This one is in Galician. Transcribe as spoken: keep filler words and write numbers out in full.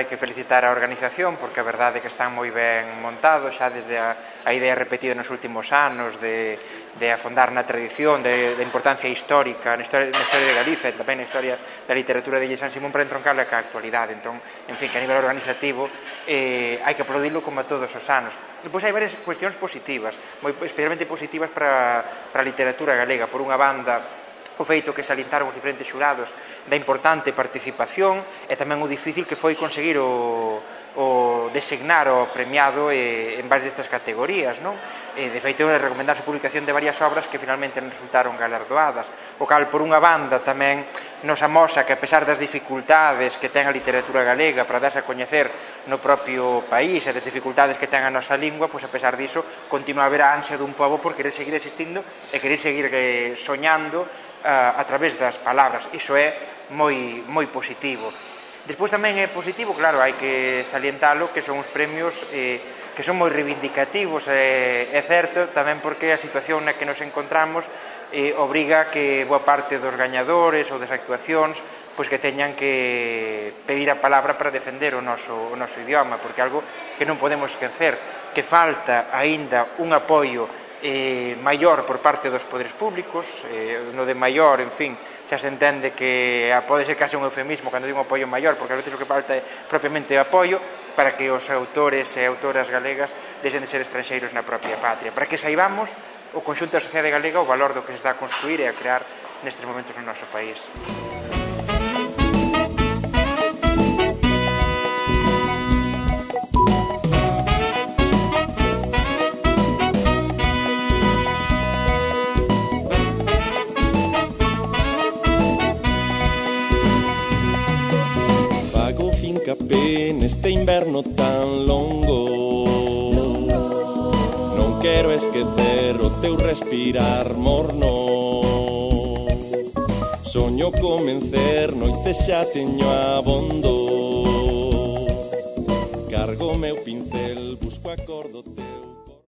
hai que felicitar a organización, porque a verdade é que están moi ben montados, xa desde a, a idea repetida nos últimos anos de, de afondar na tradición, de, de importancia histórica, na historia, na historia de Galiza e tamén na historia da literatura de Ille San Simón, para entroncarla ca actualidade. Entón, en fin, que a nivel organizativo eh, hai que aplaudilo como a todos os anos. Depois hai varias cuestións positivas, moi especialmente positivas para, para a literatura galega. Por unha banda, o feito que salientaron os diferentes xurados da importante participación e tamén o difícil que foi conseguir o, o designar o premiado eh, en base destas categorías, non? E, de feito, recomendarse a publicación de varias obras que finalmente non resultaron galardoadas, o cal, por unha banda, tamén nos amosa que, a pesar das dificultades que ten a literatura galega para darse a coñecer no propio país e das dificultades que ten a nosa lingua, pois, a pesar diso, continua a haber a ansia dun pobo por querer seguir existindo e querer seguir eh, soñando a, a través das palabras. Iso é moi, moi positivo. Despois tamén é positivo, claro, hai que salientalo, que son os premios eh, que son moi reivindicativos, eh, é certo, tamén porque a situación na que nos encontramos eh, obriga que boa parte dos gañadores ou das actuacións pois que teñan que pedir a palabra para defender o noso, o noso idioma, porque algo que non podemos esquecer, que falta aínda un apoio eh, maior por parte dos poderes públicos, eh, no de maior, en fin, xa se entende que ah, pode ser case un eufemismo cando digo un apoio maior, porque a veces o que falta é propiamente apoio para que os autores e autoras galegas deixen de ser estranxeiros na propia patria, para que saibamos o conxunto da sociedade galega o valor do que se está a construir e a crear nestes momentos no noso país. Fincapé neste inverno tan longo, non quero esquecer o teu respirar morno. Soño comencer, noite xa teño abondo. Cargo meu pincel, busco acordo teu.